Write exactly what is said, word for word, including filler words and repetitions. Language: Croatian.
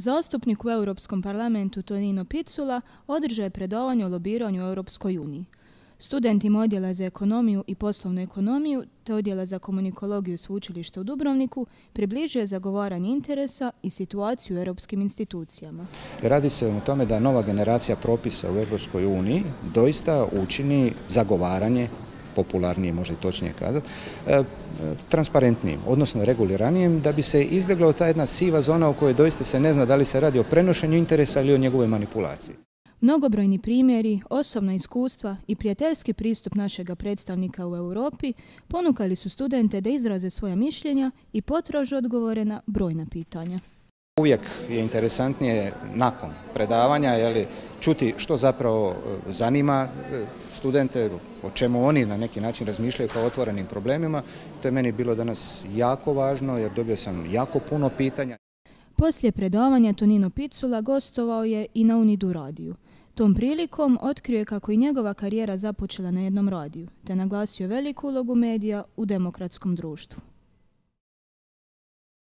Zastupnik u Europskom parlamentu Tonino Picula održao je predavanje o lobiranju u Europskoj uniji. Studentima Odjela za ekonomiju i poslovnu ekonomiju te Odjela za komunikologiju Sveučilišta u Dubrovniku približio je zagovaranje interesa i situaciju u europskim institucijama. Radi se o tome da nova generacija propisa u Europskoj uniji doista učini zagovaranje, popularnije možda i točnije kazati, transparentnijim, odnosno reguliranijim, da bi se izbjegla ta jedna siva zona u kojoj doista se ne zna da li se radi o prenošenju interesa ili o njegovoj manipulaciji. Mnogobrojni primjeri, osobna iskustva i prijateljski pristup našega predstavnika u Europi ponukali su studente da izraze svoja mišljenja i potraže odgovore na brojna pitanja. Uvijek je interesantnije nakon predavanja jeli, čuti što zapravo zanima studente, o čemu oni na neki način razmišljaju kao otvorenim problemima. To je meni bilo danas jako važno jer dobio sam jako puno pitanja. Poslije predavanja Tonino Picula gostovao je i na Unidu radiju. Tom prilikom otkrio je kako i njegova karijera započela na jednom radiju, te naglasio veliku ulogu medija u demokratskom društvu.